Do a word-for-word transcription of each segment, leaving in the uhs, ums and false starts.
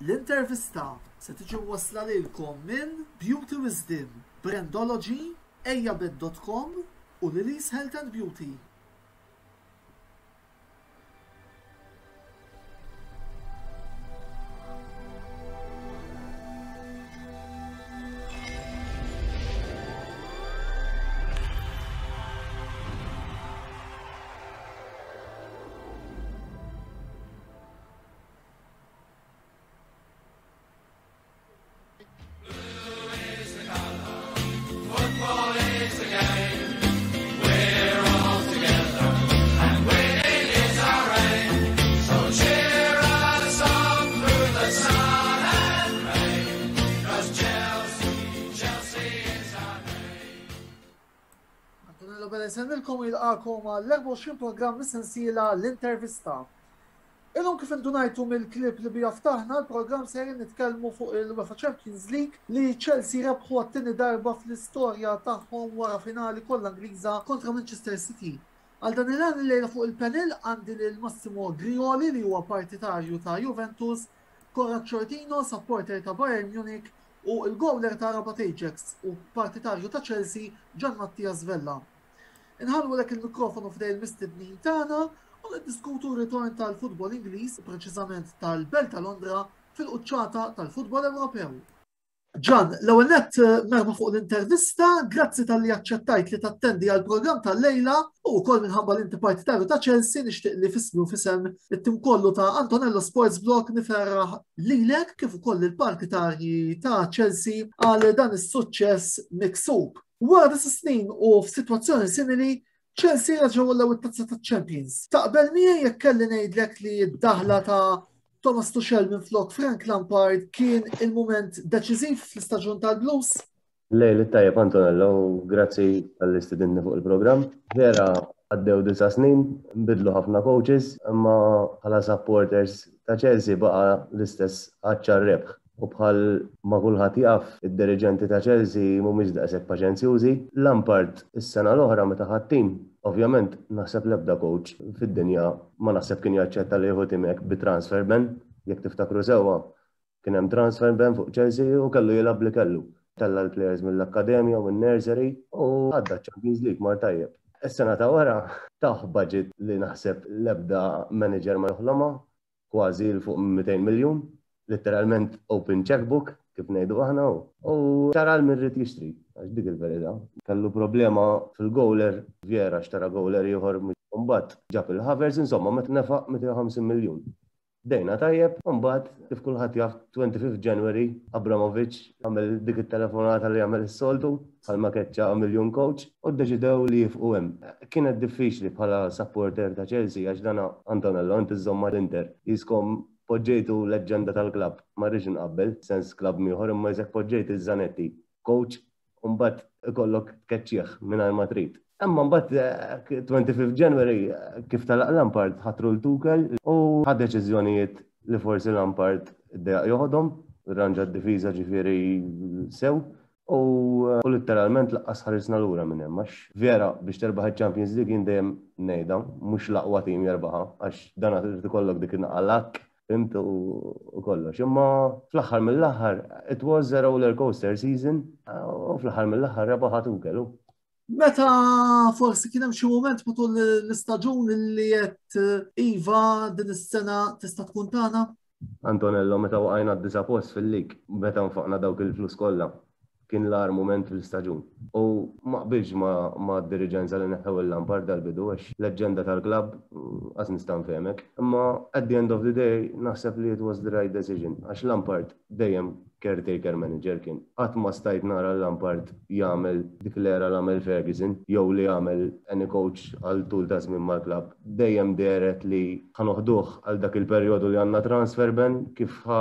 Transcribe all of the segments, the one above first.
L-intervista se tiġi mwassla lilkom minn Beauty Wisdom, Brandology, ejjabed dot com u Lily's Health and Beauty. Football is the game. We're all together, and winning is our aim. So cheer us on through the sun and rain. 'Cause Chelsea, Chelsea is our name. Antonello Bella jsellmilkom u jilqagħkom għall-erbgħa u għoxrin programm mis-sensiela L-Intervista. Illum, kif indunajtu mill-klip li bija ftaħna l-programm, sejrin nitkellmu fuq il-UEFA Champions League li Chelsea rebħu għat-tieni darba fl-istorja tagħhom wara finali kollha Ingliża kontra Manchester City. Għal dan il-għan, illejla fuq il-panel għandi lil Massimo Grioli, li huwa partitarju ta' Juventus, Konrad Shortino, supporter ta' Bayern Munich, u il-gowler ta' Rabat Ajax u partitarju ta' Chelsea, Gian Mattias Vella. Inħallulek il-mikrofonu f'idejn il-mistednin tagħna u niddiskutu r-ritorn tal-futbol Ingliż, preċiżament tal-Belt ta' Londra, fil-quċċata tal-futbol Ewropew. Gian, l-ewwel nett merħba fuq l-intervista, grazzi talli aċċettajt li tattendi għal programm tal-lejla, u wkoll minħabba li inti partitarju ta' Chelsea nixtieq li f'ismi u f'isem it-tim kollu ta' Antonello Sports Blog niferraħ lilek kif ukoll il-partitarji ta' Chelsea għal dan is-suċċess miksub. Wara disa' snin u f'sitwazzjoni simili, Chelsea reġgħu għollew it-tazza ta' Champions. Taqbel miegħi jekk kelli ngħidlek li d-daħla ta' Thomas Tuchel minn flok Frank Lampard kien il-moment deċiżiv fl-istaġun tal-Blues? Lejl it-tajjeb, Antonello, grazzi talli stedintni fuq il-programm. Vera, għaddew disa' snin, nbidlu ħafna coaches, imma bħala supporters ta' Chelsea baqa l-istess għatx għar-rebħ. U bħal ma kulħadd jaf, id-diriġenti ta' Chelsea mhumiex daqshekk paċenzjużi. Lampard is-sena l-oħra meta ħa t-tim, ovvjament naħseb l-ebda coach fid-dinja ma naħseb kien jaċċetta li jieħu tim hekk bi transfer ban, jekk tiftakru sewwa. Kien hemm transfer ban fuq Chelsea u kellu jilgħab li kellu. Tella l-players mill-akkademja u mill-nursery u għadda Champions League, mar tajjeb. Is-sena ta' wara tah budget li naħseb l-ebda manager ma joħlomha, kważi 'l fuq mitejn miljun, literalment open checkbook, kif ngħidu aħna, u xtara 'l min ried jixtri, għax dik il-verità. Kellu problema fil-goaler, Vieira, xtara goaler ieħor, mbagħad ġab il-Havertz, insomma, meta nefaq mitejn u ħamsin miljun. Bdejna tajjeb, mbagħad kif kulħadd jaf, twenty-fifth January Abramovich għamel dik it-telefonata li għamel is-soltu, bħalma keċċa miljun coach, u ddeċidew li jieqfu hemm. Kienet diffiċli bħala supporter ta' Chelsea għax dana, Antonello, inti żżomm l-Inter. Qiskom poġġejtu leġenda tal-klabb, ma rridx nqabbel, sens klabb ieħor, imma qisek poġġejt iż-Zanetti, coach, u mbagħad ikollok tkeċċih mingħajr ma trid. Imma mbagħad twenty-fifth January, kif telaq Lampard, ħatru 'l Tuchel u ħa deċiżjonijiet li forsi Lampard iddejjaq joħodhom, rranġa d-difiża ġifieri sew u u literalment lanqas ħarisna lura minn hemm, għax vera biex terbaħ il-Champions League, jien dejjem ngħidha, mhux l-aqwa tim jerbaħha, għax dan trid ikollok dik in-naqalak, fhimt, u kollox. Imma fl-aħħar mill-aħħar it was a roller coaster season u fl-aħħar mill-aħħar rebaħa Tuchel. Meta forsi kien hemm xi mument matul l-istaġun li qed iva, din is-sena tista' tkun tagħna? Antonello, meta waqajna d-disa' post fil-lig, meta nfaqna dawk il-flus kollha, kien l-agħar moment fil-staġun. U ma qbilx ma, ma d-diriġenza li neħew il-Lampard dal-bidu, għax leġenda tal-klabb, għax nista' nfehmek. Imma at the end of the day naħseb li it was the right decision, għax Lampard dejjem caretaker manager kien. Qatt ma stajt nara Lampard jagħmel dik l-era l għamel Ferguson jew li jagħmel any coach għal tul ta' żmien mal-klabb. Dejjem dehret li ħa noħduh għal dak il-perjodu li għandna transfer ban, kif ħa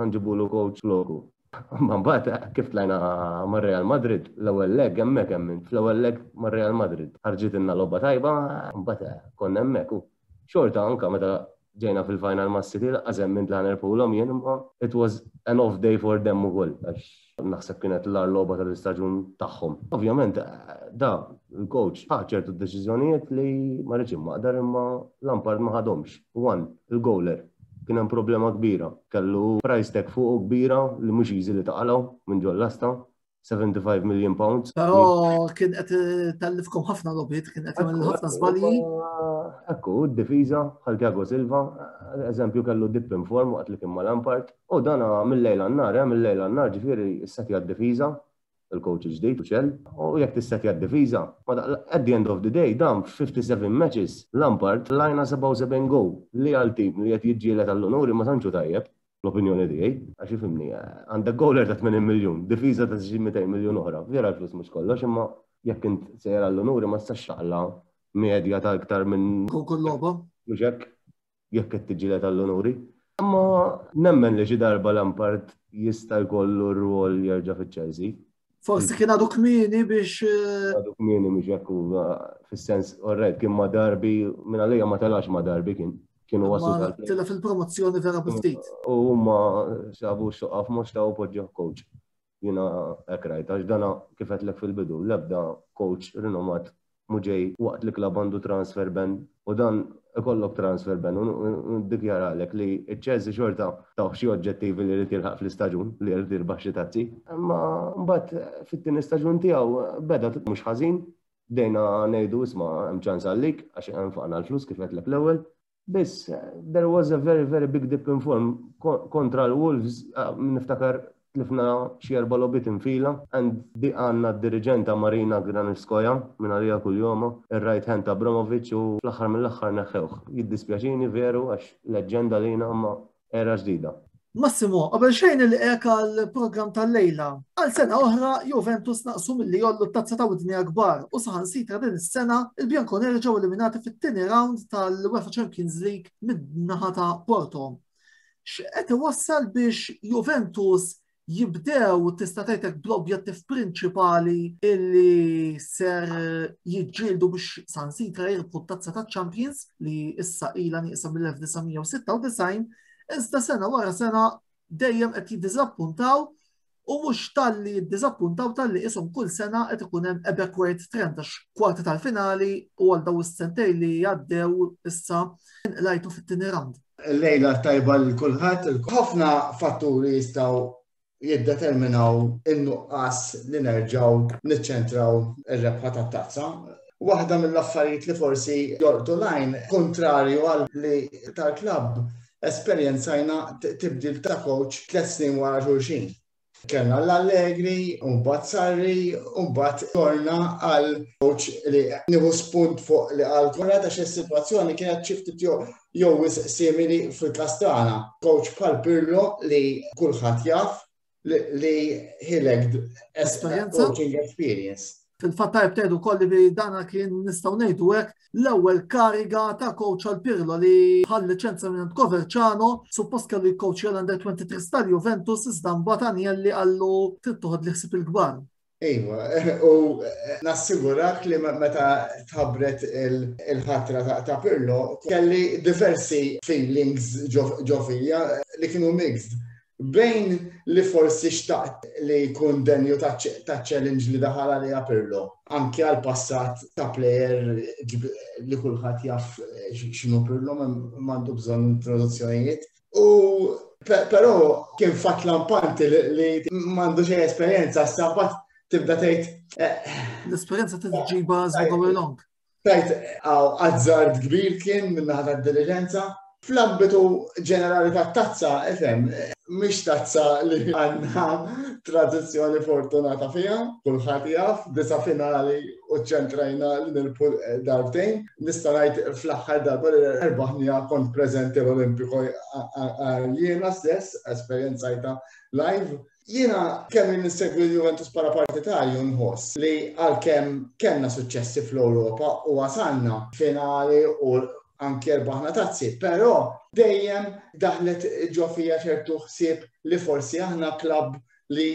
nġibulu coach floku. Ma mbagħad kif tlajna mar-Real Madrid, l-ewwel leg hemmhekk hemm, fl-ewwel leg mar-Real Madrid. Ħarġitilna logħba tajba, mbagħad konna hemmhekk u xorta anka meta ġejna fil-final ma' City lanqas emmint li ħa nirbħulhom jien, imma it was an off day for them ukoll, għax naħseb kienet l-agħar logħba tal-istaġun tagħhom. Ovvjament da il-coach ħa ċertu deċiżjonijiet li ma rridx immaqdar, imma Lampard ma ħadhomx. One, il-goaler. Kien hemm problema kbira. Kellu price tag fuq kbira li mhux easy li taqalgħu minn ġol-lasta. seventy-five million pounds. Però kien qed tellifkom ħafna logħbiet, kien qed jagħmel ħafna żbalji. Ekku, d-difiża bħal Thiago Silva, eżempju, kellu dip in form waqt li kien ma' Lampard. U dana mill-lejl għan-nhar, eh, mill-lejl għan-nhar, ġifieri issetja d-difiża, il-coach ġdid Tuchel, u jekk tissetja d-difiża, at the end of the day, dan fifty-seven matches, Lampard lajna sebgħa u sebgħin goal li għal tim li qed jiġġieled għall-unuri ma tantxu tajjeb, l-opinjoni tiegħi, għax ifhimni, għandek goaler ta' tmenin miljun, difiża ta' xi mitejn miljun oħra, vera l-flus mhux kollox, imma jekk int sejjer għall-unuri ma tistax taqla' medja ta' iktar minn kull logħba. Mhux hekk, jekk qed tiġġieled għall-unuri. Imma nemmen li xi darba Lampard jista' jkollu r-rwol jerġa' fiċ-Chelsea. Forsi kien għadu kmieni biex. Eh, Għadu kmieni, mhux hekk, fis-sens, alright, kien ma' Derby, minn għalija ma telax ma' Derby, kien kienu waslu. Tela fil-promozzjoni vera ftit. U huma sabu xoqaf mhux ta' u poġġew coach. Jiena hekk rajt, għax dana kif għedtlek fil-bidu, l-ebda coach rinomat mhu ġej waqt li klab għandu transfer ban u dan ikollok transfer ban u dikjaralek li ċ-Chelsea xorta taw xi oġġettivi li jrid jilħaq fl-istaġun, li jrid jirbaħ xi tazzi. Imma mbagħad fit-tieni staġun tiegħu beda mhux ħażin, bdejna ngħidu isma' hemm ċans għalik għax hemm faqna l-flus kif għedtlek l-ewwel. Biss, there was a very, very big dip in form kontra l-Wolves, niftakar tlifna xi erba' logħbiet infila, and di għandna d-diriġenta Marina Granovskaia, minn għalija kull ir-right hand ta' Abramovich, u fl-aħħar mill-aħħar neħħewh. Jiddispjaċini veru għax leġġenda lina, imma era ġdida. Massimo, qabel xejn il-ek għal-program tal-lejla. Għal sena oħra Juventus naqsu milli jgħollu t-tazza ta' widnejn kbar u saħansitra din is-sena il-Bianconeri ġew eliminati fit-tieni round tal-UEFA Champions League mid-naħa ta' Porto. X'qed iwassal biex Juventus jibdew, tista' tgħidlek, bl-objettiv prinċipali illi ser jiġġieldu biex saħansitra jirbħu t-tazza ta' Champions li issa ilha nieqsa mill-elf disa' mija u sitta u disgħin, iżda sena wara sena dejjem qed jiddiżappuntaw, u mhux talli jiddiżappuntaw, talli ishom kull sena qed ikun hemm a backward trend, għax kwarti tal-finali u għal daw is-sentej li għaddew issa lajtu fit-tieni round? Lejla tajba lil kulħadd. Ħafna fatturi jistgħu jiddeterminaw in-nuqqas li nerġgħu niċċentraw ir-rebħa tat-tazza. Waħda mill-affarijiet li forsi jolqtu l-għajn, kontrarju għal li tal-klabb, esperjenzajna tibdil ta' coach tliet snin wara xulxin. Kellna l-Allegri, u mbagħad Sarri, u mbagħad torna għal coach li nieħu spunt fuq li għal Konrad, għax is-sitwazzjoni kienet xi ftit jew simili fil-każ tagħna. Coach bħal Pirlo li kulħadd jaf li he lacked coaching experience. Fil-fatt tajb tgħidu kolli bi dana kien, nistgħu ngħidu hekk, l-ewwel kariga ta' coach għal Pirlo li ħa l-liċenzja minn Coverciano. Suppost kellu jcoach għal Under twenty-three tal-Juventus, iżda mbagħad Agnelli qallu trid toħodli ħsieb il-kbar. Iva, u nassigurak li meta tħabbret il-ħatra ta' Pirlo, kelli diversi feelings ġo fija li kienu mixed. Bejn li forsi xtaqt li jkun denju ta' challenge li daħal għalija Pirlo. Anki għal passat ta' player li kulħadd jaf x'inhu Pirlo, m'għandu bżonn introduzzjonijiet. U però kien fatt lampanti li m'għandu xejn esperjenza, sabbat tibda tgħid. Eh, L-esperjenza tiġiba as we go along. Tajt, azzard kbir kien minn naħa tad-diligenza. Fl-ambitu ġenerali ta' tazza, ifhem, mhix tazza li għandna tradizzjoni fortunata fiha, kulħadd jaf, disa' finali u ċentrajna li nirbħu darbtejn. Nista' ngħid fl-aħħar darba li rbaħnija kont preżenti l-Olimpiko jiena stess, esperjenzajta live. Jiena kemm nissegwi l-Juventus para partitarju nħoss li għalkemm kellna suċċessi fl-Ewropa u wasalna finali u anke rbaħna tazzi, però dejjem daħlet ġo fija ċertu ħsieb li forsi aħna klabb li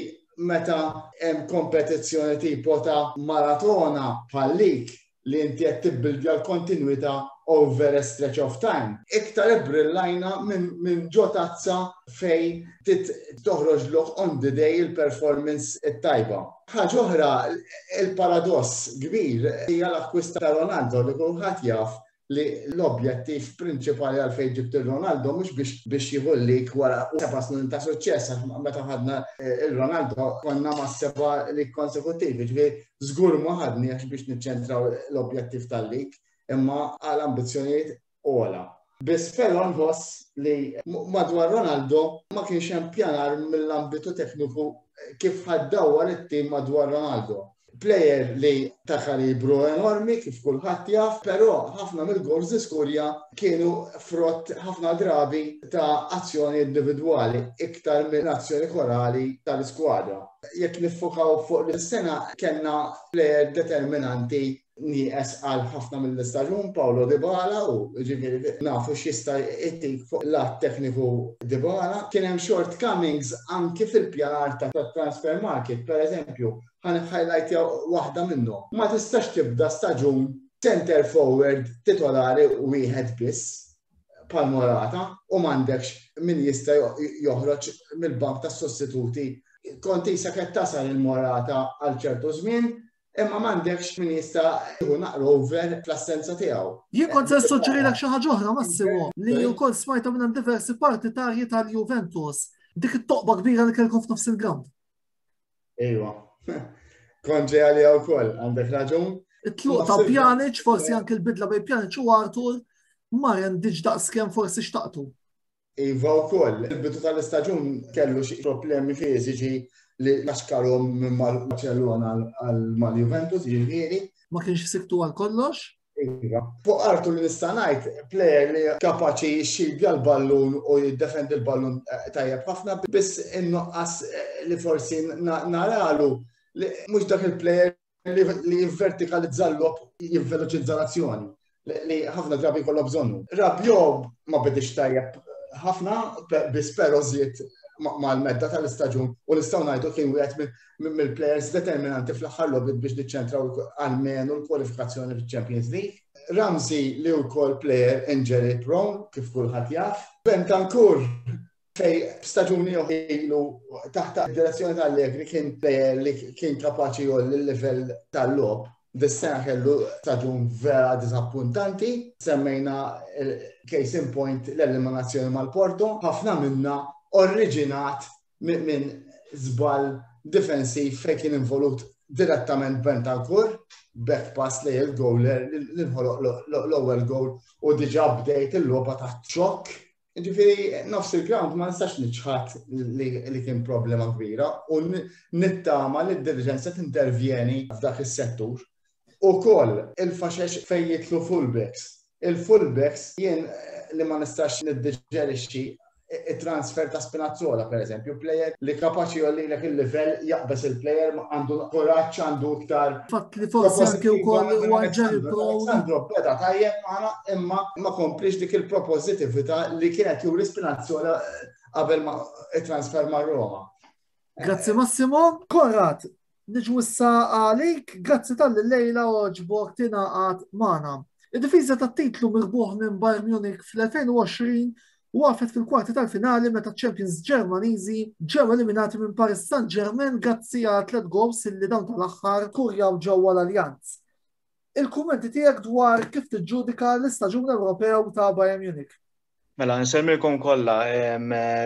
meta hemm kompetizzjoni tipo ta' maratona bħal league li inti qed tibbildja l-kontinwità over a stretch of time. Iktar brillajna minn min ġo tazza fej toħroġ lok on the day il-performance it-tajba. Ħaġa oħra, il-paradoss kbir hija l-akkwist ta' Ronaldo li kulħadd jaf. li l-objettiv prinċipali għalfejn ġibt il-Ronaldo mhux biex biex jieħu l-league wara seba' snin ta' suċċess, għax meta ħadna eh, il-Ronaldo konna ma' seba' league konsekuttivi, ġifieri żgur ma ħadni għax biex niċċentraw l-objettiv tal-league, imma għal ambizzjonijiet ogħla. Biss però nħoss li madwar Ronaldo ma kienx hemm pjanar mill-ambitu tekniku kif ħa ddawwar it-tim madwar Ronaldo. Player li ta' kalibru enormi kif kulħadd jaf, però ħafna mill-goals li skurja kienu frott ħafna drabi ta' azzjoni individwali iktar minn azzjoni korali tal-iskwadra. Jekk niffokaw fuq l-sena, kellna player determinanti nieqes għal ħafna mill-istaġun, Paulo Dybala, u ġifieri nafu x'jista' jtik fuq lat tekniku Dybala. Kien hemm shortcomings anki fil-pjanar ta' transfer market, per eżempju, ħa highlight waħda minnhom. Ma tistax tibda staġun center forward titolari wieħed biss bħal Morata u m'għandekx min jista' joħroġ mill-bank tas sostituti. Kont isa qed tasal il-Morata għal ċertu żmien, imma m'għandekx min jista' jieħu naqra over fl-assenza tiegħu. Jien kont se nissuġġerilek xi ħaġa oħra, Massimo, li wkoll smajta minn diversi partitarji tal-Juventus. Dik it-toqba kbira li kellkom f'nofs il-ground. Ejwa. Kont ġej għalija wkoll, għandek raġun. It-tluq ta' Pjanic, forsi anke l-bidla bejn Pjanic u Arthur, ma rendiġ daqskemm forsi xtaqtu. Iva wkoll, il-bidu tal-istaġun kellu xi problemi fiżiċi li laxkarhom minn mal-Barcellona għal mal-Juventus, ġifieri. Ma kienx siktu għal kollox? Iva. Fuq Arthur li nista' ngħid, player li kapaċi jixxibja l-ballun u jiddefendi l-ballun eh, tajjeb ħafna, biss in-nuqqas eh, li forsi naralu li mhux dak il-player li jivvertikalizza l-logħob, jivveloċizza l-azzjoni li ħafna drabi kollha bżonnu. Rabiot ma bedix tajjeb ħafna, biss però żied mal-medda tal-istaġun u nistgħu ngħidu kien wieħed mill-players determinanti fl-aħħar logħbiet biex niċċentraw almenu l-kwalifikazzjoni fil-Champions League. Ramsey li wkoll player injury prone, kif kulħadd jaf. Bentancur, fej staġuni ilu taħt direzzjoni ta' Allegri kien player li kien kapaċi jgħolli l-livell tal-logħob. Dis-sena kellu staġun vera disappuntanti. Semmejna case in point l-eliminazzjoni mal-Porto. Ħafna minna oriġinat minn żball difensiv fejn kien involut direttament Bentancur, back pass li il-goaler li nħoloq l-ewwel goal u diġà bdejt il-logħba taħt xokk. Ġifieri, nofs il-ground ma nistax niċħad li kien problema kbira u nittama li d-diriġenza tintervjeni f'dak is-settur. Ukoll il-faxex fejn jidħlu fullbacks. Il-fullbacks jien li ma nistax niddiġerixxi il-transfer ta' Spinazzola, per eżempju, player li kapaċi jgħollilek il-level, jaqbes il-player, għandu kuraġġ, għandu iktar. Fatt li forsi anke wkoll huwa injury prone. Alessandro beda tajjeb magħna, imma ma komplix dik il-propożittività li kienet juri Spinazzola qabel ma il-transfer ma' Roma. Grazzi, Massimo. Konrad, niġu issa għalik, grazzi talli llejla għoġbok tingħaqad magħna. Id-difiża tat-titlu mirbuħ minn Bayern Munich fl-elfejn u għoxrin waqfet fil-kwarti tal-finali meta Champions Ġermaniżi ġew eliminati minn Paris Saint-Germain grazzi għal tliet goals li dawn tal-aħħar skurjaw ġewwa l-Allianz. Il-kummenti tiegħek dwar kif tiġġudika l-istaġun Ewropew ta' Bayern Munich. Mela, nsellmilkom kollha,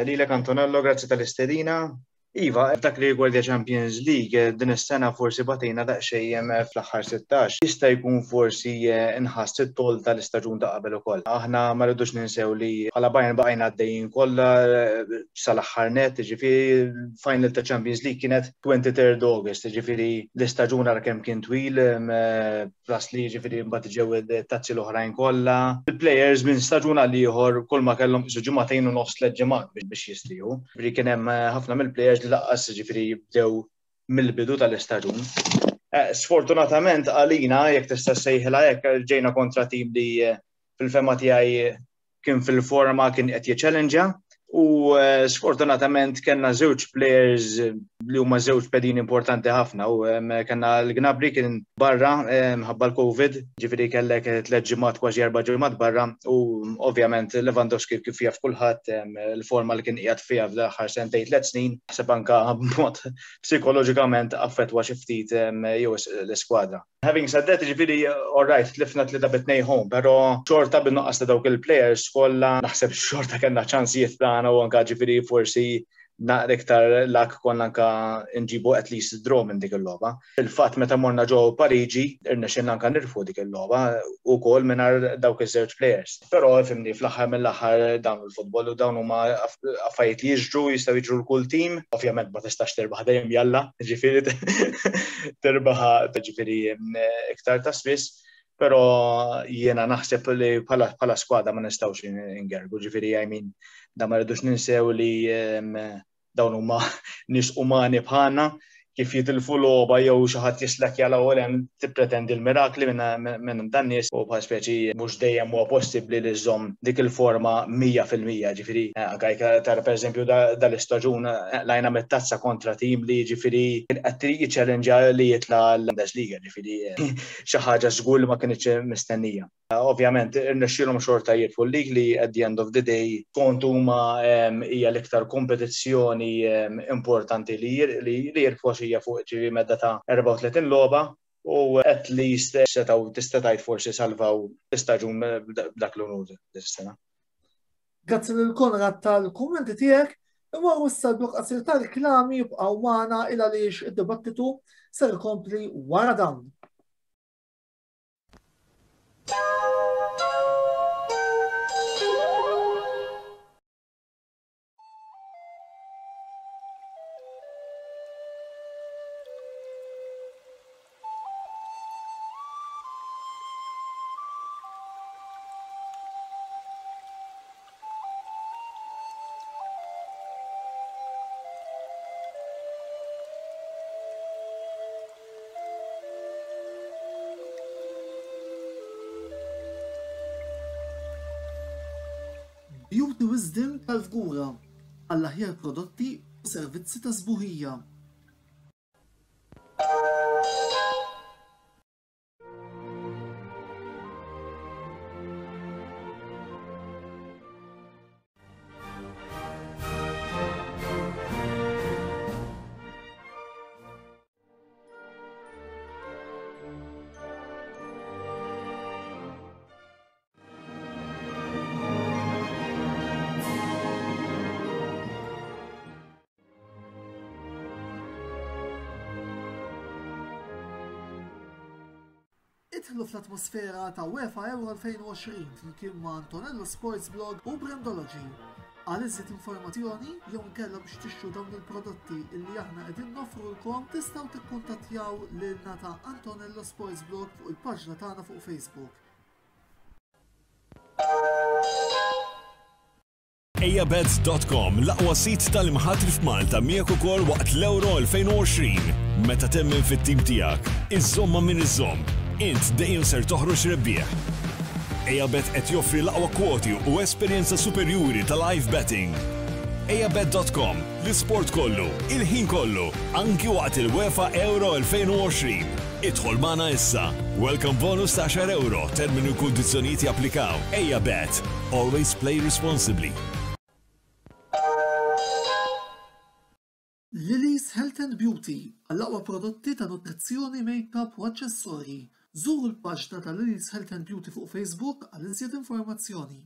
lilek Antonello, grazzi tal-istedina. Iva, dak li rigwardja Champions League, din is-sena forsi batejna daqsxejn fl-aħħar sittax. Jista' jkun forsi inħass it-toll tal-istaġun ta' qabel ukoll. Aħna ma rridux ninsew li bħala Bayern baqajna għaddejjin kollha sal-aħħar net, ġifieri final ta' Champions League kienet twenty-third August, ġifieri l-istaġun ara kemm kien twil, plus li ġifieri mbagħad ġew it-tazzi l-oħrajn kollha. Il-players minn staġun għal ieħor kull ma kellhom qisu ġimagħtejn u nofs, tliet ġimgħat biex jistrieħu. Ġifieri kien hemm ħafna mill-players li lanqas ġifieri bdew mill-bidu tal-istaġun. Sfortunatament għalina, jekk tista' sejħilha hekk, ġejna kontra tim li fil-fehma tiegħi kien fil-forma, kien qed jiċċellenġja U eh, sfortunatament kellna żewġ players li huma żewġ pedini importanti ħafna u kellna l-Gnabry kien barra ħabba l-Covid, ġifieri kellek tliet ġimgħat, kważi erba' ġimgħat barra, u ovvjament Lewandowski, kif jaf kulħadd, il-forma li kien qiegħed fiha fl-aħħar sentejn, tliet snin, ħseb anka b'mod psikoloġikament affettwa xi ftit jew l-iskwadra. Having said that, ġifieri, all right, tlifna tlieta bi tnejn home, pero xorta bin-nuqqas ta' dawk il-players kollha naħseb xorta kellna ċansijiet tagħna u anka ġifieri forsi naqra iktar luck konna anka nġibu at least draw minn dik il-logħba. Il-fatt meta morna ġo Pariġi, irnexxilna anka nirbħu dik il-logħba ukoll mingħajr dawk iż-żewġ players. Però fhimni, fl-aħħar mill-aħħar dawn il-futbol u dawn huma affarijiet li jiġru, jistgħu jiġru 'l kull team. Ovvjament ma tistax terbaħ dejjem jalla, ġifieri terbaħ ġifieri iktar ta' spiss. Pero jiena naħseb li bħala skwadra ma nistgħux ingergu, ġifieri, I mean, da ma rridux ninsew li dawn huma nies umani bħalna, kif jitilfu logħba jew xi ħadd jislek jala u hemm tippretendi l-mirakli minn dan nies u bħal speċi mhux dejjem huwa possibbli li żżomm dik il-forma mija fil-mija, ġifieri anke jekk tara pereżempju dal-istaġun lajna mit-tazza kontra tim li ġifieri qed jiċċellenġa li jitla' l-Bundesliga, ġifieri xi ħaġa żgur li ma kinitx mistennija. Ovvjament, irnexxielhom xorta jirbħu l-league li at the end of the day kont huma hija l-iktar kompetizzjoni importanti li jirbħu hija fuq ġifieri medda ta' erbgħa u tletin logħba u at least setgħu tista' tgħid forsi salvaw l-istaġun b'dak l-unur dis-sena. Grazzi lil Konrad tal-kummenti tiegħek. Imma issa blokk qasir ta' reklami, jibqgħu magħna il għaliex id-dibattitu ser ikompli wara dawn. Beauty Wisdom tal-Fgura għall-aħjar prodotti u servizzi ta' sbuħija. Idħlu fl-atmosfera ta' UEFA Euro elfejn u għoxrin flimkien ma' Antonello Sports Blog u Brandology. Għal iżjed informazzjoni jew inkella biex tixtru dawn il-prodotti illi aħna qegħdin noffrulkom, tistgħu tikkuntattjaw lilna ta' Antonello Sports Blog fuq il-paġna tagħna fuq Facebook. Ejjabet dot com, l-aqwa sit tal-imħatri f'Malta, miegħek ukoll waqt l-Euro elfejn u għoxrin. Meta temmen fit-tim tiegħek, iżomma min iżomm, int dejjem ser toħroġ rebbieħ. Ejjabet qed joffri l-aqwa kwoti u esperjenza superjuri ta' live betting. Ejjabet dot com, l-isport kollu, il-ħin kollu, anki waqt il-UEFA Euro elfejn u għoxrin. Idħol magħna issa. Welcome bonus ta' għaxar euro, termini u kundizzjonijiet japplikaw. Ejjabet. Always play responsibly. Lily's Health and Beauty għall-aqwa prodotti ta' nutrizzjoni, make-up u aċċessorji. Żuru l-paġna ta' Lily's Health and Beauty fuq Facebook għal iżjed informazzjoni.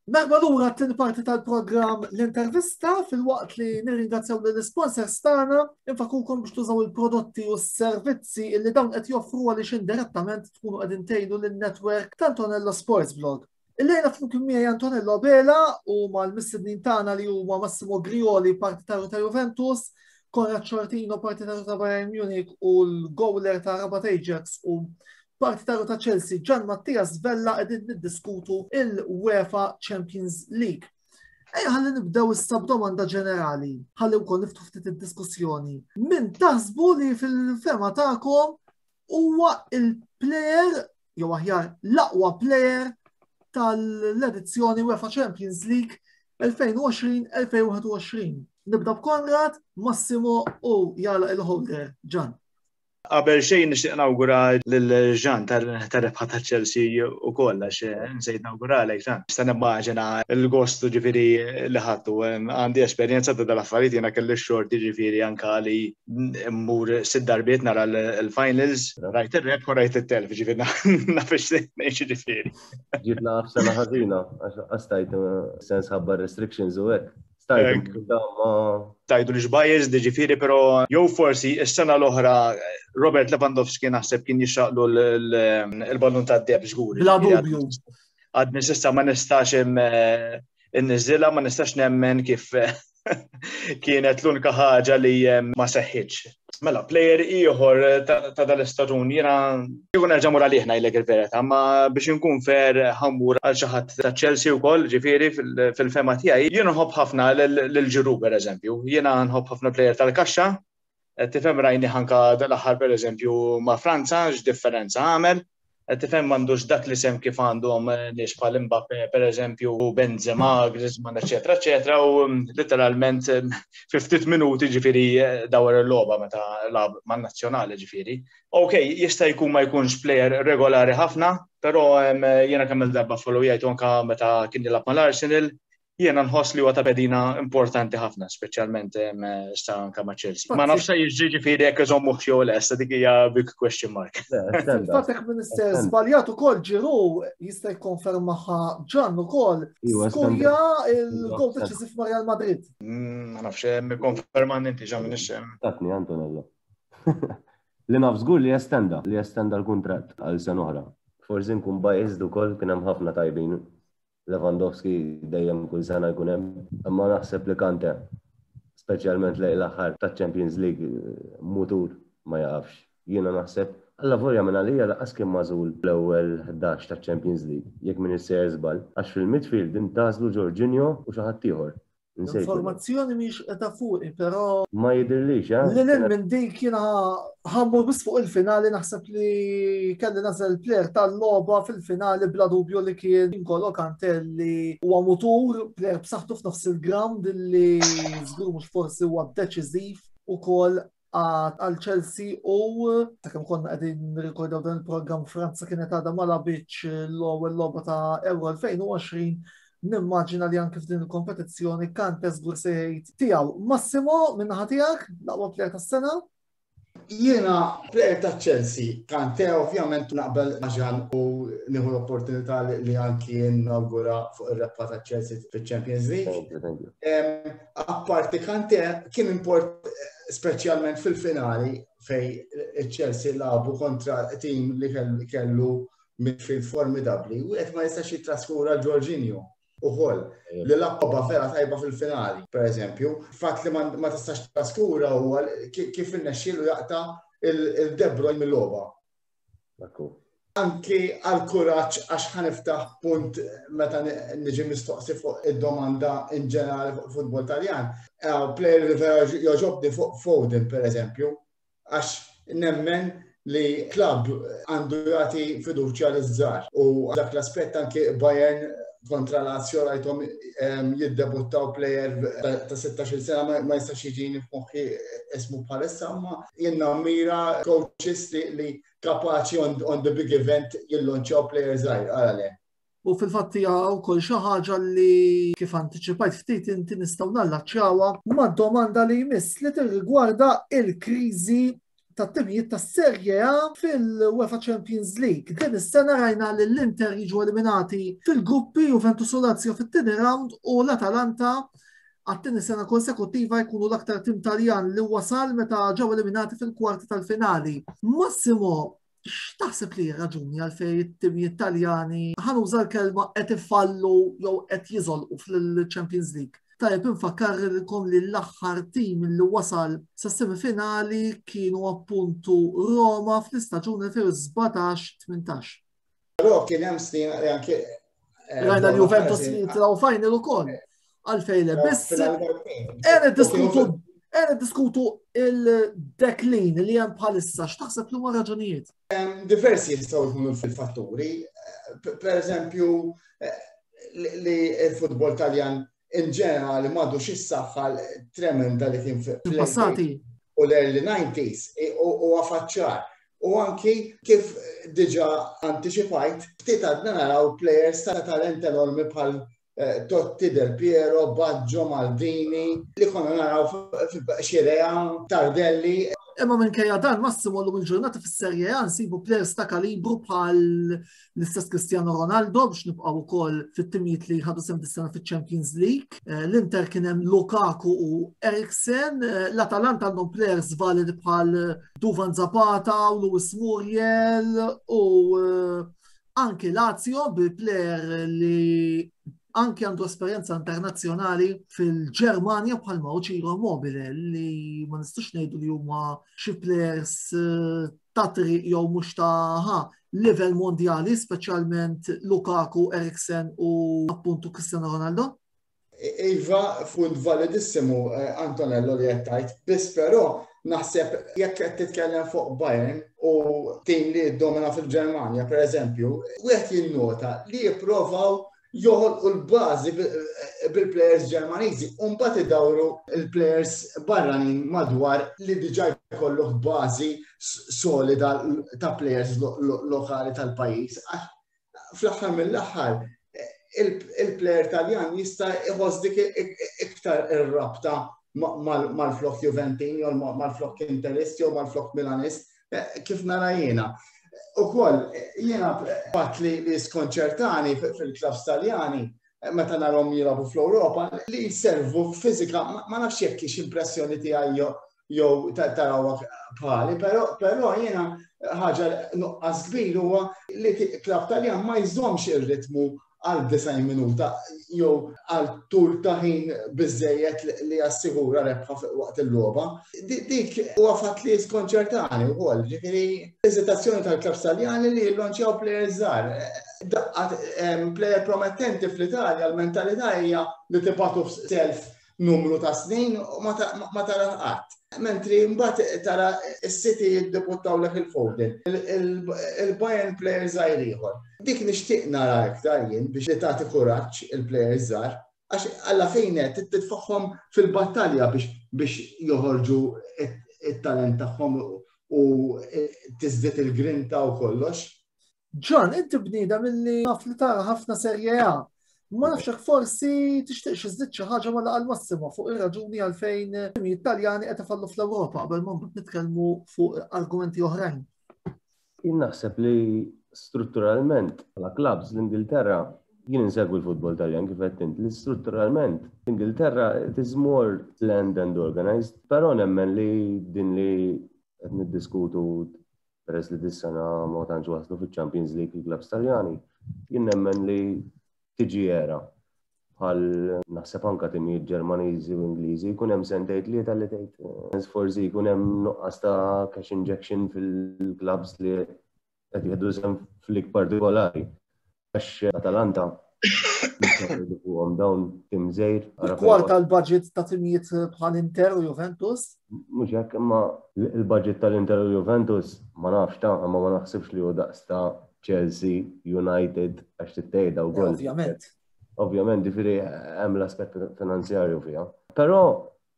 Merħba lura t-tieni parti tal-programm L-Intervista. Filwaqt li nirringrazzjaw lill-sponsors tagħna, infakrukom biex tużaw il-prodotti u s-servizzi illi dawn qed joffru għaliex indirettament tkunu qegħdin tgħinu lin-network ta' Antonello Sports Blog. Illejla flimkien miegħi Antonello Bela u mal-mistednin tagħna li huma Massimo Grioli, partitarju ta' Juventus, Konrad Sciortino, partitarju ta' Bayern Munich, u l-gowler ta' Rabat Ajax u partitarju ta' Chelsea Gian Mattias Vella, qegħdin niddiskutu il-UEFA Champions League. Ejja ħalli nibdew issa b'domanda ġenerali, ħalli wkoll niftħu ftit id-diskussjoni. Min taħsbu li fil-fehma tagħkom huwa il-player jew aħjar l-aqwa player tal-edizzjoni UEFA Champions League elfejn u għoxrin elfejn u wieħed u għoxrin. Nibda b'Konrad, Massimo u jagħlaq il-holder, Ġan. Qabel xejn nixtieq nawgura lil Ġan tar-rebħa ta' Chelsea ukoll, għax nsejt nawguralek, Ġan. Nista' nimmaġina l-gost ġifieri li ħadtu. Għandi esperjenza ta' dal-affarijiet, jiena kelli x-xorti ġifieri anka li mmur sitt darbiet nara l-finals, rajt ir-rebħ u rajt it-telf, ġifieri naf ngħix ġifieri. Ġibna sena ħażina, għax stajt sens ħabba restrictions u hekk. Stajt ma Tajdu li bias ġifieri, pero jew forsi s-sena l-oħra Robert Lewandowski naħseb kien jixraqlu l-ballun tad-deheb żgur. Bla dubju. Għadni s'issa ma nistax inniżilha, ma nistax nemmen kif kienet l-unika ħaġa li ma seħħitx. Mela, player ieħor ta' dal-istaġun, jiena kieku nerġa' mur għalih ngħidlek il-verità, ma biex inkun fair ħa mmur għal xi ħadd ta' Chelsea wkoll, ġifieri fil-fehma tiegħi, jiena nħobb ħafna lil Giroud, pereżempju. Jiena nħobb ħafna player tal-kaxxa, tifhem, rajni anka dal-aħħar, pereżempju, ma' Franza, x'differenza għamel. Tifhem, m'għandux dak li sem kif għandhom nies bħal Mbappe, pereżempju, Benzema, Griezmann, eċetera, eċetera, u literalment fi ftit minuti ġifieri dawar il-logħba meta lagħab man-nazzjonali ġifieri. Ok, jista' jkun ma jkunx player regolari ħafna, però jiena kemm il-darba followjajtu anka meta kien jilgħab mal-Arsenal, jiena nħoss li huwa ta' pedina importanti ħafna, speċjalment issa anka ma' Chelsea. Ma nafx jiġri ġifieri jekk iżommuh jew le, issa dik hija big question mark. Fil-fatt, jekk m'iniex żbaljat ukoll, Giroud jista' jikkonfermaha Ġan ukoll. Skorja il-gol deċisiv ma' Real Madrid. Ma nafx, mikkonferman inti ġa m'iniex. Tatni Antonello. Li naf żgur li jestenda, li jestenda l-kuntratt għal sena oħra. Forsi nkun biased ukoll, kien hemm ħafna tajbin. Lewandowski dejjem kull sena jkun hemm, imma naħseb li Kante, speċjalment lejn l-aħħar ta' Champions League, mutur ma jaqafx. Jiena naħseb alla volja minn għalija lanqas kien magħżul l-ewwel ħdax ta' Champions League, jekk m'iniex sejjer żball, għax fil-midfield intgħażlu Jorginho u xi ħadd ieħor. Informazzjoni mhix qed fuqi, però Ma jidhirlix, eh? Lil hinn minn dik, jiena ħa mmur biss fuq il-finali, naħseb li kelli nagħżel player tal-logħba fil-finali, bla dubju li kien N'Golo Kante, li huwa mutur, player b'saħħtu f'nofs il-ground li żgur mhux forsi huwa deċiżiv ukoll għal Chelsea. U ta' kemm konna qegħdin nirrikordaw dan il-programm, Franza kienet għadha ma lagħbitx l-ewwel logħba ta' Euro elfejn u għoxrin. Nimmaġina li anke f'din il-kompetizzjoni Kante żgur se jgħid tiegħu. Massimo, min-naħa tiegħek, l-aqwa player tas-sena? Jiena player ta' Chelsea, Kante ovvjament, naqbel ma' Ġan u nieħu l-opportunità li anki nawgura fuq ir-rebħa ta' Chelsea fil-Champions League. Thank you, thank you. Apparti Kante, kien import speċjalment fil-finali fej Chelsea lagħbu kontra tim li kellu midfield formidabli u qed ma jistax jitraskura Jorginho ukoll li lagħab vera tajba fil-finali, per eżempju. Fatt li ma tistax traskura huwa kif irnexxielu jaqta' il-De Bruyne mill-logħba. Anki għal-kuraġġ, għax ħa niftaħ punt meta niġi mistoqsi fuq id-domanda in ġenerali fuq futbol Taljan. Player li vera jogħġobni fuq Foden, per eżempju, għax nemmen li klab għandu jagħti fiduċja liż-żgħar. U dak l-aspett anki Bayern kontra Lazio rajthom jiddebuttaw player ta' sittax-il sena, ma jistax jiġini f'moħħi ismu bħalissa, ma jien nammira coaches li kapaċi on, on the big event jillonċjaw player żgħir għala. U fil-fatt hija wkoll xi ħaġa li kif antiċipajt ftit inti nistgħu nallaċċjawha mad-domanda li jmiss, li tirrigwarda il-kriżi tat-timijiet tas-Serie A fil-UEFA Champions League. Din is-sena rajna li l-Inter jiġu eliminati fil-gruppi, Juventus u Lazio fit-tieni round, u l-Atalanta għat-tieni sena konsekutiva jkunu l-aktar tim Taljan li wasal meta ġew eliminati fil-kwarti tal-finali. Massimo, x'taħseb li raġuni għalfejn it-timijiet Taljani, ħa nuża l-kelma, qed ifallu jew qed jiżolqu fil-Champions League? Tajjeb infakkarkom li l-aħħar tim li wasal sa semifinali kienu appuntu Roma fl-istaġun elfejn u sbatax tmintax. Però kien hemm snin li anke Rajna l-Juventus li jitilgħu final ukoll. Għalfejn le, biss ejja niddiskutu ejja niddiskutu il-decline li hemm bħalissa, x'taħseb li huma raġunijiet? Diversi jistgħu jkunu fil-fatturi. Per eżempju, li il-futbol Taljan in ġenerali m'għadux is-saħħa tremenda li kien fil-passati u l-early nineties u għafaċċar. U anki kif diġa anticipajt, ftit għadna naraw players ta' talent enormi bħal Totti, Del Piero, Baggio, Maldini, li konna naraw Scirea, Tardelli. Imma minkejja dan, Massimo, l il-ġurnata fis-Serie A nsibu players ta' kalibru bħal l-istess Cristiano Ronaldo biex nibqgħu wkoll fit-timijiet li ħadu sehem dis-sena fiċ-Champions League. L-Inter kien hemm Lukaku u Eriksen, l-Atalanta għandhom players validi bħal Duvan Zapata u Luis Muriel u anki Lazio bi player li anki għandu esperjenza internazzjonali fil-Ġermanja bħalma hu Ciro Immobile li ma nistux ngħidu li huma xi players ta' triq jew mhux ta' ha livell mondjali, speċjalment Lukaku, Eriksen u appuntu Cristiano Ronaldo. Iva, punt validissimu, Antonello, li qed tgħid, biss però naħseb jekk qed titkellem fuq Bayern u tim li domina fil-Ġermanja, per eżempju, wieħed jinnota li jipprovaw joħolqu l-bażi bil-players Ġermaniżi u mbagħad idawru l-players barranin madwar li diġà jkollok bażi solida ta' players lokali tal-pajjiż. Fl-aħħar mill-aħħar il-player Taljan jista' iħoss dik iktar ir-rabta mal-flok Juventin jew mal-flok Interist jew mal-flok Milanist, kif nara jiena. Ukoll, jiena fatt li li skonċertani fil-klabs Taljani meta narhom jilagħbu fl-Ewropa li jservu fiżika, ma nafx jekk hix impressjoni tiegħi jew tarawha bħali, però jiena ħaġa nuqqas kbir huwa li klab Taljan ma jżommx ir-ritmu għal disgħin minuta jew għal tul ta' ħin biżejjed li jassigura rebħa waqt il-logħba. Dik huwa fatt li skonċertani wkoll, ġifieri eżitazzjoni tal-klabs Taljani li jillonċjaw players żgħar. Daqqat player promettenti fl-Italja, l-mentalità hija li tibgħatu f'self numru ta' snin u ma tara qatt. Mentri mbagħad tara s-City jiddebuttawlek il-Foden, il-Bayern player żgħir ieħor. Dik nixtieq nara iktar jien biex li tagħti kuraġġ il-players żgħar, għax alla fejn qed titfaħħom fil-battalja biex biex joħorġu it-talent tagħhom u tiżdied il-grinta u kollox. John, inti bniedem milli naf li tara ħafna Serie A. Ma nafx hekk forsi tixtieq xi żdied xi ħaġa ma laqal Massimo fuq ir-raġuni għalfejn it-Taljani qed ifallu fl-Ewropa qabel ma mbagħad nitkellmu fuq argumenti oħrajn. Jien naħseb li strutturalment bħala clubs l-Ingilterra, jien insegwi l-futbol Taljan kif qed int, li strutturalment l-Ingilterra it is more planned and organized, però nemmen li din li qed niddiskutu peress li dis-sena ma tantx waslu fiċ-Champions League il-clubs Taljani, jien nemmen li tiġi era bħal naħseb anka timijiet Ġermaniżi u Ingliżi jkun hemm sentejn tlieta li tgħid forsi jkun hemm nuqqas ta' cash injection fil-clubs li qed jieħdu sehem f'lig partikolari. Għax Atalanta fuqhom dawn tim żgħir. Il-kwart tal-budget ta' timijiet bħal Inter u Juventus? Mhux hekk, imma il-budget tal-Inter u Juventus ma nafx ta' imma ma naħsibx li hu daqs ta' Chelsea, United, għax tittejda wkoll. Ovvjament. Ovvjament, ġifieri hemm l-aspett finanzjarju fiha. Però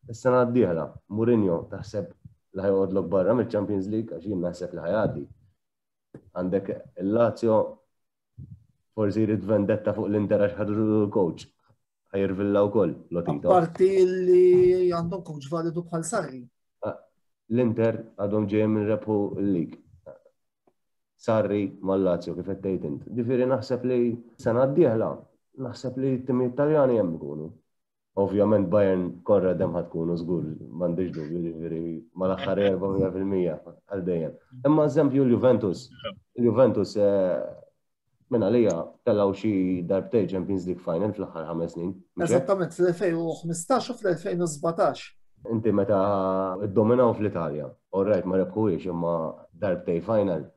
is-sena d-dieħla, Mourinho taħseb li ħajoqgħodlok barra mill-Champions League għax jien naħseb li ħajgħaddi. Għandek il-Lazio forsi jrid vendetta fuq l-Inter għax ħadu l-coach. Ħajrvilla wkoll Lotito. Apparti li għandhom coach validu bħal Sarri. L-Inter għadhom ġejjin minn rebħu l-League. Sarri mal-Lazio kif qed tgħid int. Ġifieri naħseb li sena d-dieħla, naħseb li t-timijiet Taljani hemm ikunu. Ovvjament Bayern korra dem ħad tkunu żgur, m'għandix dubju, ġifieri mal-aħħar erba' mija fil-mija għal dejjem. Imma eżempju l-Juventus, il-Juventus minn għalija tellgħu xi darbtejn Champions League final fl-aħħar ħames snin. Eżattament, fl-elfejn u ħmistax u fl-elfejn u sbatax. Inti meta iddominaw fl-Italja, all right, ma rebħuhiex imma darbtejn final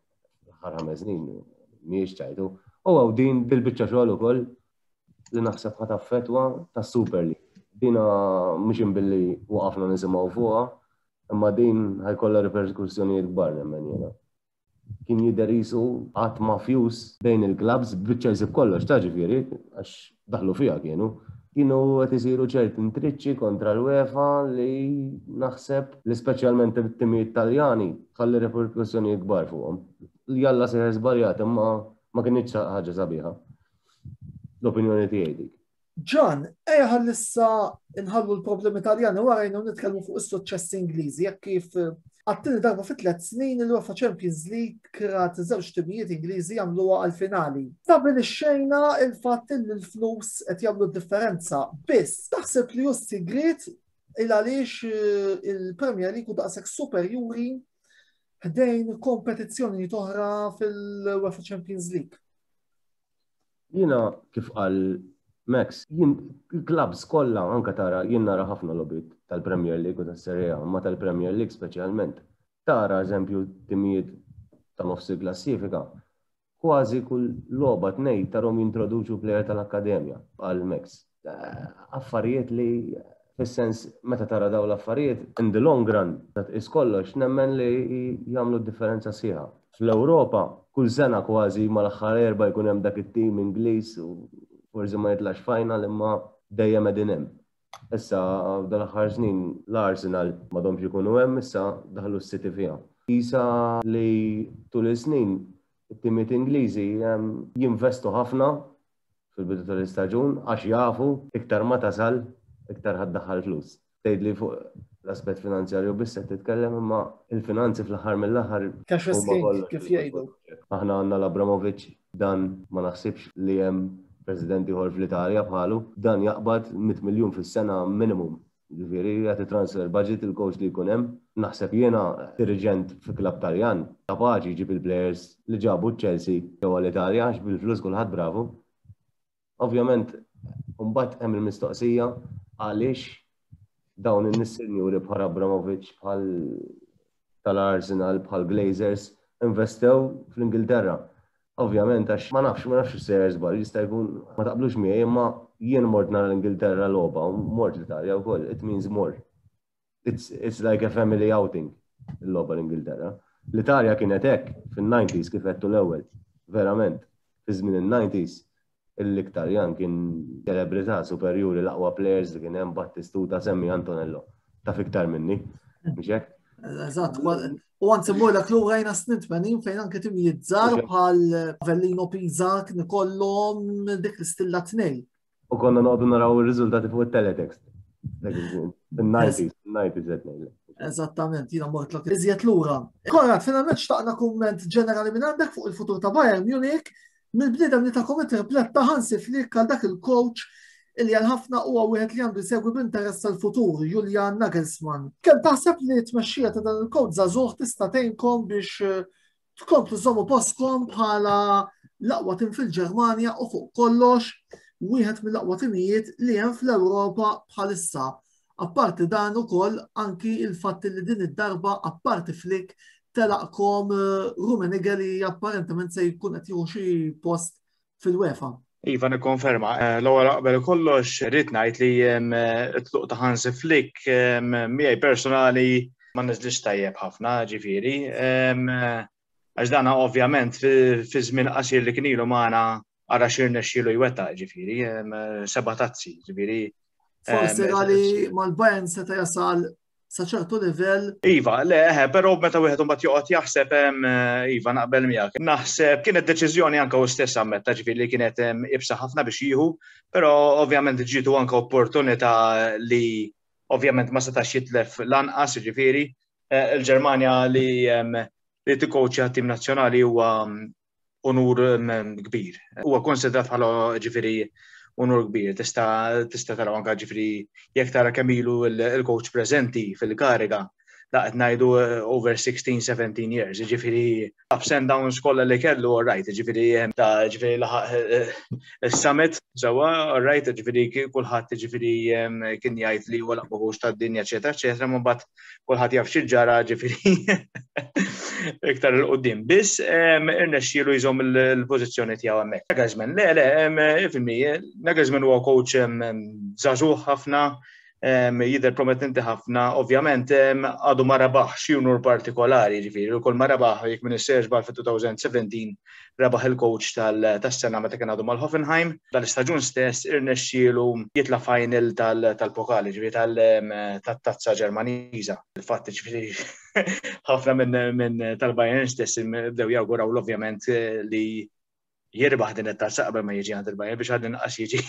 fl-aħħar ħames snin mhijiex ċajtu. U għaw din bil-biċċa xogħol ukoll li naħseb ħa taffettwa tas-Super League. Dina mhux imbilli waqafna nisimgħu fuqha, imma din ħajkollha riperkussjonijiet kbar nemmen jiena. Kien jidher qisu qatt mafjus bejn il-clubs, biċ-Chelsea b'kollox, ta' ġifieri, għax daħlu fiha kienu. Kienu qed isiru ċerti intriċċi kontra l-UEFA li naħseb li speċjalment it-timijiet Taljani ħalli reperkussjoni kbar fuqhom. Jalla sejjer żbaljat, imma ma kinitx ħaġa sabiħa. L-opinjoni tiegħi dik. Ġan, ejja ħallissa nħallu l-problemi Taljani warajna u nitkellmu fuq is-suċċessi Ingliżi, jekk kif għat-tieni darba fi tliet snin il-UEFA Champions League rat żewġ timijiet Ingliżi jagħmluha għal-finali. Stabilixxejna il-fatt li l-flus qed jagħmlu differenza. Biss, taħseb li hu sigriet il għaliex eh, il-Premier League hu daqshekk superjuri ħdejn kompetizzjoni oħra fil-UEFA Champions League? Jiena, kif qal Max, jien il-clubs kollha, anka tara, jien nara ħafna logħbiet tal-Premier League u tas-Serie A, ma tal-Premier League speċjalment. Tara, eżempju, timijiet ta' nofs il-klassifika, kważi kull logħba tnejn tarahom jintroduċu player tal-akkademja għal Max. Eh, Affarijiet li fis-sens meta tara daw l-affarijiet, in the long run, ta' tqis kollox, nemmen li jagħmlu differenza sħiħa. Fl-Ewropa, kull sena kważi mal-aħħar erba' jkun hemm dak it-tim Ingliż u forsi ma jitlax final, imma dejjem qegħdin hemm. Issa dal-aħħar snin l-Arsenal m'għadhomx ikunu hemm, issa daħlu s-City fiha. Isa li tul is-snin it-timiet Ingliżi em, jinvestu ħafna fil-bidu tal-istaġun għax jafu iktar ma tasal iktar ħa ddaħħal flus. Tgħid li fuq l-aspett finanzjarju biss qed titkellem, imma il-finanzi fl-aħħar mill-aħħar Cash is huma king, kollox kif fil-futbol. jgħidu. Aħna għandna l-Abramovic, dan ma naħsibx li hemm president ieħor fl-Italja bħalu, dan jaqbad mitt miljun fis-sena minimum. Ġifieri jagħti transfer budget il-coach li jkun hemm. Naħseb jiena dirigent fi klab Taljan kapaċi jġib il-players li ġabu Chelsea ġewwa l-Italja, għax bil-flus kulħadd bravu. Ovvjament, mbagħad hemm il-mistoqsija għaliex dawn in-nies sinjuri bħal Abramovic, bħal tal-Arsenal, bħal Glazers, investew fl-Ingilterra. Ovvjament, għax ma nafx, ma nafx sejjer żball, jista' jkun ma taqblux miegħi, imma jien mort nara l-Ingilterra logħba u mort l-Italja wkoll, it means more. It's, it's like a family outing, il-logħba l-Ingilterra. L-Italja kienet hekk fin-nineties, kif għedtu l-ewwel, verament. Fi żmien il-nineties, l-Italjan kien ċelebrità superjuri, l-aqwa players li kien hemm, Battistuta, semmi Antonello. Taf iktar minni, mhux hekk? Eżatt, u għanzi mmurlek lura jina snin tmenin fejn anke timijiet żgħar bħal Avellino, Pisa kien ikollhom dik l-istilla tnejn. U konna noqogħdu naraw ir-riżultati fuq il-teletext. Dak iż-żmien. In-nineties, in-nineties qed ngħidlek. Eżattament, jiena mortlok iżjed lura. Konrad, finalment xtaqna kumment ġenerali minn għandek fuq il-futur ta' Bayern Munich, mill-bniedem li ta' tripletta Hansi Flick għal dak il-coach illi għal ħafna huwa wieħed li għandu jsegwi b'interess tal-futur, Julian Nagelsmann. Kemm taħseb li t-tmexxija ta' dan il-coach żagħżugħ tista' tgħinkom biex eh, tkomplu żommu postkom bħala l-aqwa tim fil-Ġermanja u fuq kollox wieħed mill-aqwa timijiet li hemm fl-Ewropa bħalissa? Apparti dan ukoll anki il-fatt li din id-darba apparti Flick telaqkom eh, Rummenigge li apparentement se jkun qed jieħu xi post fil-UEFA. Iva, nikkonferma. Eh, l-ewwel qabel kollox rrid ngħid li em, it-tluq ta' Hansi Flick em, miegħi personali ma niżlix tajjeb ħafna, ġifieri. Em, Għax dana ovvjament fi fi żmien qasir li kien ilu magħna ara x'irnexxielu jwettaq, ġifieri, em, seba' tazzi, ġifieri. Forsi em, għali mal-Bayern seta' jasal sa ċertu livell. Iva, le, eħe, però meta wieħed imbagħad joqgħod jaħseb hemm, iva, naqbel miegħek. Naħseb kienet deċiżjoni, anke hu stess ammetta, ġifieri, li kienet em, iebsa ħafna biex jieħu, però ovvjament ġietu anke opportunità li ovvjament ma setax jitlef lanqas, ġifieri. Eh, Il-Ġermanja li em, li tikkoċja tim nazzjonali huwa unur em, kbir. Huwa konsidrat bħala, ġifieri, unur kbir. Tista' tista' tara anke, ġifieri, jekk tara kemm ilu il-coach preżenti fil-kariga, da qed ngħidu eh, over sixteen seventeen years, ġifieri ups and downs kollha li kellu, all right, ġifieri ta' ġifieri laħaq eh, is-summit, sewwa, all right, ġifieri kulħadd, ġifieri, kien jgħid li huwa l-aqwa coach tad-dinja, eċetera, eċetera, ma mbagħad kulħadd jaf xi ġara, ġifieri, iktar 'il quddiem. Biss irnexxielu jżomm il-pożizzjoni tiegħu hemmhekk. Nagelsmann, le, le, ifhimni, Nagelsmann huwa coach żagħżugħ ħafna, Jidher promettenti ħafna, ovvjament għadu ma rebaħ xi unur partikolari, ġifieri, ukoll ma rebaħ jekk minn is-Serge Bal fit-elfejn u sbatax rebaħ il-coach tas-sena meta kien għadu mal-Hoffenheim. Dal-istaġun stess irnexxielu jitla' final tal-pokali, ġifieri tal-tazza Ġermaniża. Il-fatt, ġifieri, ħafna minn tal-Bayern stess bdew jawguraw ovvjament li jirbaħ din it-tazza qabel ma jiġi għand il-Bayern biex għad inqas jiġi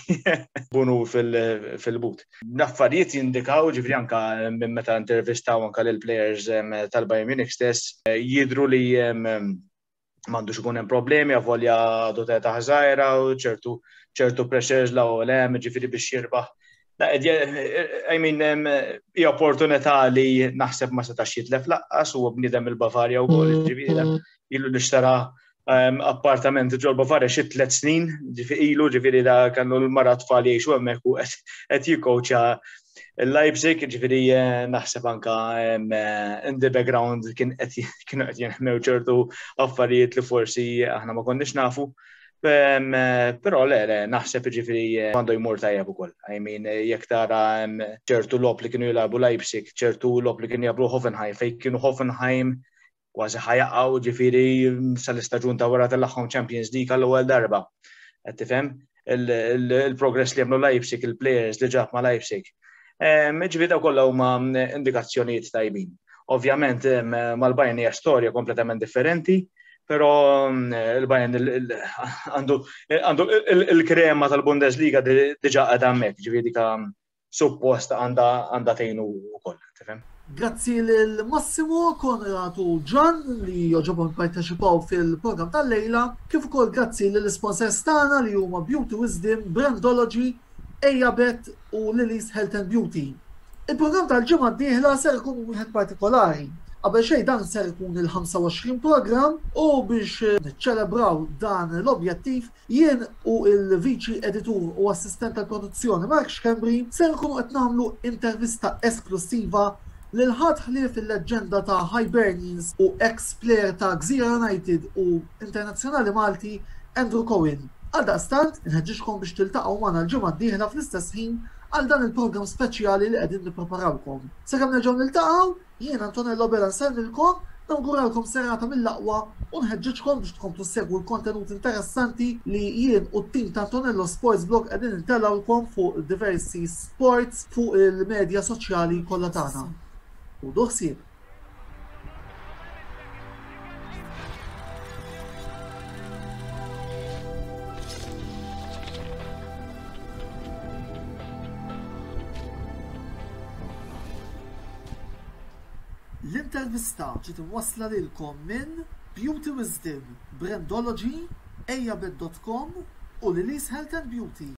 bunu fil-but. L-affarijiet jindikaw, ġifieri, anka minn meta intervistaw anka lill-players tal-Bayern Munich stess, jidru li m'għandux ikun hemm problemi, avolja għadu ta' żgħira u ċertu ċertu pressures la u hemm, ġifieri, biex jirbaħ. I mean, hija opportunità li naħseb ma setax jitlef lanqas u bniedem il-Bavarja wkoll, ġifieri ilu li xtara appartament ġol Bavarja xi tliet snin, ġifieri ilu, ġifieri da kellu l-mara, tfal jgħixu hemmhekk u qed jikkowċja il-Leipzig, ġifieri eh, naħseb anka eh, in the background kien kienu qed jinħmew ċertu affarijiet li forsi aħna ma konniex nafu. Eh, però le, le, naħseb ġifieri għandu jmur tajjeb ukoll. I mean, jekk tara ċertu logħob li kienu jilagħbu Leipzig, ċertu logħob li kienu jilagħbu Hoffenheim, fejn kienu Hoffenheim kważi ħa jaqgħu, ġifieri sal-istaġun ta' wara tellagħhom Champions League għall-ewwel darba. Qed tifhem? Il-progress li għamlu Leipzig, il-players li ġab ma' Leipzig. Ġifieri daw kollha huma indikazzjonijiet tajbin. Ovvjament mal-Bayern hija storja kompletament differenti, però il-Bayern għandu il-krema tal-Bundesliga diġà għadha hemmhekk, ġifieri dika suppost għandha tgħinu wkoll, tifhem? Grazzi lil Massimo, Konrad u Ġan li għoġobhom parteċipaw fil-program tal-lejla, kif ukoll grazzi lill sponsors tagħna li huma Beauty Wisdom, Brandology, Ejabet u Lily's Health and Beauty. Il-program tal-ġimgħa d-dieħla ser ikun wieħed partikolari. Qabel xejn, dan ser ikun il-ħamsa u għoxrin program u biex niċċelebraw dan l-objettiv, jien u il-viċi editur u assistent tal-produzzjoni Mark Schembri ser ikunu qed nagħmlu intervista esklusiva lil ħadd ħlief il-leġġenda ta' Hibernians u ex-player ta' Gżira United u internazzjonali Malti Andrew Cohen. Għaldaqstant, inħeġġiġkom biex tiltaqgħu magħna l-ġimgħa d-dieħla fl-istess ħin għal dan il-programm speċjali li qegħdin nippreparawkom. Sakemm nerġgħu niltaqgħu, jien Antonello Bella nsellmilkom, nawguralkom serata mill-aqwa u nħeġġiġkom biex tkomplu segwu l-kontenut interessanti li jien u t-tim ta' Antonello Sports Blog qegħdin intellgħulkom fuq diversi sports fuq il-medja soċjali kollha tagħna. Ħudu ħsieb. L-intervista ġiet imwassla lilkom minn Beauty Wisdom, Brandology, Ejabet dot com u Lily's Health and Beauty.